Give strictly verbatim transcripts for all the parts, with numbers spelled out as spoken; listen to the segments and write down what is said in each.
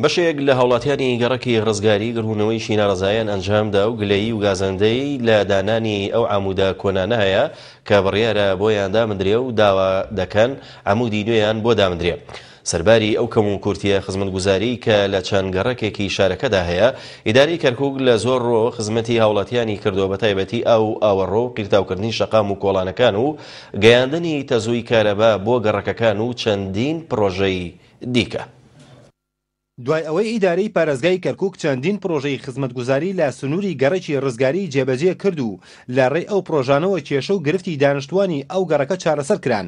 بەشێک لە هاوڵاتیانی گەڕەکی ڕزگاری گربوونەوەیشی ناڕەزایان ئەنجامدا و گلەیی و گازەندەی لە دانانی ئەو عامودە کۆنانە هەیە کە بڕیارە بۆیان دامدرێ و داوا دەکەن عامودی نوێیان بۆ دامدرێ. سەرباری ئەو کەم و کورتیە خزمەتگوزاری کە لە چەند گەڕەکێکی شارەکەدا هەیە، ئیدارەی کەرکوک لە زۆر ڕۆ خزمەتی هاوڵاتیانی کردووە، بە تایبەتی ئاو و ئاوەڕۆ و قیرتاوکردنی شەقام و کۆڵانەکان و گەیاندنی تەزووی کارەبا بۆ گەڕەکەکان و چەندین پرۆژەی دیکە. دوای ئەوەی ئیدارەی پارێزگای کەرکوک چەندین پرۆژەی خزمەتگوزاری لە سنووری گەڕەکی ڕزگاری جێبەجێ کرد و لە ڕێی ئەو پرۆژانەوە کێشە و گرفتی دانیشتوانی ئەو گەڕەکە چارەسەر کران،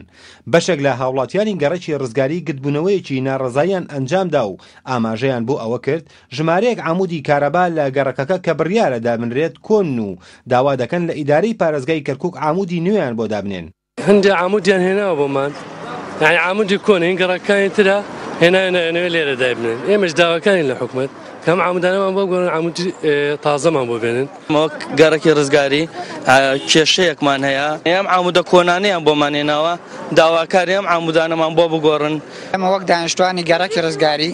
بەشێک لە هاوڵاتیانی گەڕەکی ڕزگاری گردبوونەوەیەکی ناڕەزاییان ئەنجامدا و ئاماژەیان بۆ ئەوە کرد ژمارەیەک عامودی کارەبا لە گەڕەکەکە کە بڕیارە دابنرێت کۆن و داوا دەکەن لە ئیدارەی پارێزگای کەرکوک عامودی نوێیان بۆ دابنێن. هەندێک عامودیان هێناوە بۆمان، یعنی عامودی کۆن هین گەڕەکانی ترە هێنایانە ئەنەوێ لێرە دایبنێن. ئێمەش داواکارین لە حکومەت کە ئەم عامودانەمان بۆ بگۆڕن، عامودی تازەمان بۆ بێنن. وەک گەڕەکی ڕزگاری کێشەیەکمان هەیە، ئەم عامودە کۆنانەیان بۆمان هێناوە، داواکاری ئەم عامودانەمان بۆ بگۆڕن. ئێمە وەک دانیشتوانی گەڕەکی ڕزگاری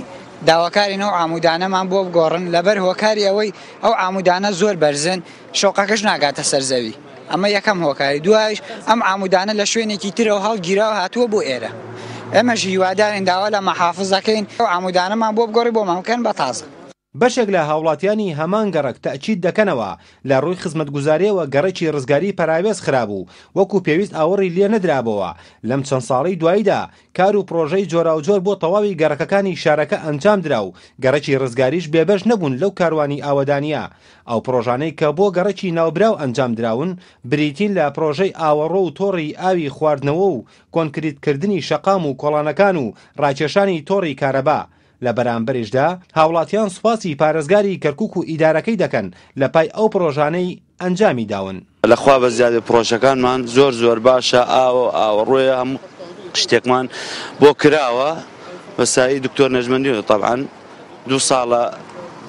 داواکارین ئەو عامودانەمان بۆ بگۆڕن، لەبەر هۆکاری ئەوەی ئەو عامودانە زۆر بەرزن، شۆقەکەش ناگاتە سەر زەوی. ئەمە یەکەم هۆکاری. دوایش ئەم عامودانە لە شوێنێکی ترەوە هەڵگیراوە هاتووە بۆ ئێرە. ئێمەش هیوادارین داوا لە مەحافز دەکەین ئەو عامودانەمان بۆ بگۆڕی بۆمان بکەن بە تازە. بەشێک لە هاوڵاتیانی هەمان گەڕەک تەئکید دەکەنەوە لە ڕووی خزمەتگوزاریەوە گەڕەکی ڕزگاری پەراوێز خرابوو، وەکو پێویست ئاوەڕی لێ نەدرابەوە. لەم چەند ساڵەی دواییدا کار و پرۆژەی جۆراوجۆر بۆ تەواوی گەڕەکەکانی شارەکە ئەنجام درا و گەڕەکی ڕزگاریش بێبەش نەبوون لەو کاروانی ئاوەدانیە. ئەو پرۆژانەی کە بۆ گەڕەکی ناوبراو ئەنجام دراون بریتین لە پرۆژەی ئاوەڕۆ و تۆڕی ئاوی خواردنەوە و کۆنکریتکردنی شەقام و کۆڵانەکان و ڕاکێشانی تۆڕی کارەبا. لە بەرامبەریشدا هاوڵاتیان سوپاسی پارێزگاری کەرکوک و ئیدارەکەی دەکەن لە پای ئەو پرۆژانەی ئەنجامی داون. لەخوا بە زیادە پرۆژەکانمان زۆر زۆر باشە، ئاوە ئاوەڕۆیە، هەموو شتێکمان بۆ کراوە بەسایی دکتۆر نەجمەدین. تەبعەن دوو ساڵە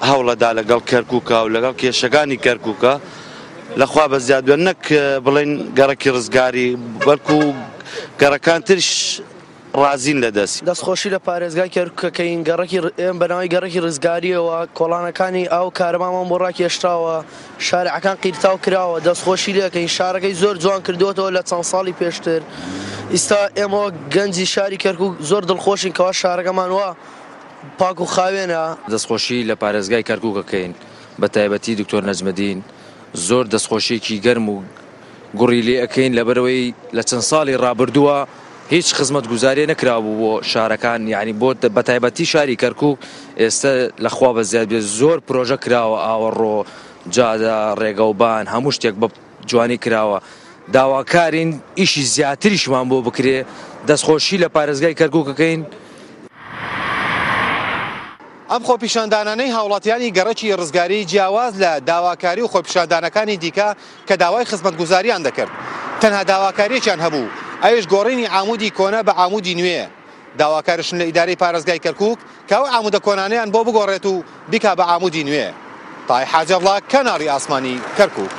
هەوڵەدا لەگەڵ کەرکوکا و لەگەڵ کێشەکانی کەرکوکە لەخوا بە زیاد بێن، نەک بڵێن گەڕەکی ڕزگاری بەڵکو گەڕەکان ترش ڕازین لە دەست. دەستخۆشی لە پارێزگای کەرکوکەکەین، گەڕەکی ئێم بەناوی گەڕەکی ڕزگاریەوە کۆڵانەکانی ئاو کارەبامان بۆ ڕاکێشراوە، شارعەکان قیرتاو کراوە، دەستخۆشی لەکەین. شارەکەی زۆر جوان کردووەتەوە لە چەند ساڵی پێشتر. ئیستا ئێمە گەنجی شاری کەرکوک زۆر دڵخۆشین کەوا شارەکەمان وا پاک و خاوێنە. دەستخۆشی لە پارێزگای کەرکوکەکەین، بە تایبەتی دکتۆر نەجمەدین زۆر دەستخۆشیێکی گەرم و گوڕی لێ ئەکەین، لەبەرەوەی لە چەند ساڵی ڕابردووە هیچ خزمەتگوزاریە نەکرابوو بۆ شارەکان، یعنی بۆ بەتایبەتی شاری کەرکوک ئێستا لەخوا بە زیاد بێت زۆر پرۆژە کراوە، ئاوەڕۆ، جادە، ڕێگەوبان، هەموو شتێک بە جوانی کراوە. داواکارین ئیشی زیاتریشمان بۆ بکرێ. دەستخۆشی لە پارێزگای کەرکوکەکەین. ئەم خۆپیشاندانانەی هاوڵاتیانی گەڕەکی ڕزگاری جیاواز لە داواکاری و خۆپیشاندانەکانی دیکە کە داوای خزمەتگوزاریان دەکرد، تەنها داواکاریەکیان هەبوو، ئەویش گۆڕینی عامودی کۆنە بە عامودی نوێ. داواکارشن لە ئیدارەی پارێزگای کەرکوک کە ئەو عامودە کۆنانەیان بۆ بگۆڕێت و بیکا بە عامودی نوێ. تای حاجەڵا، کەناڵی ئاسمانی کەرکوک.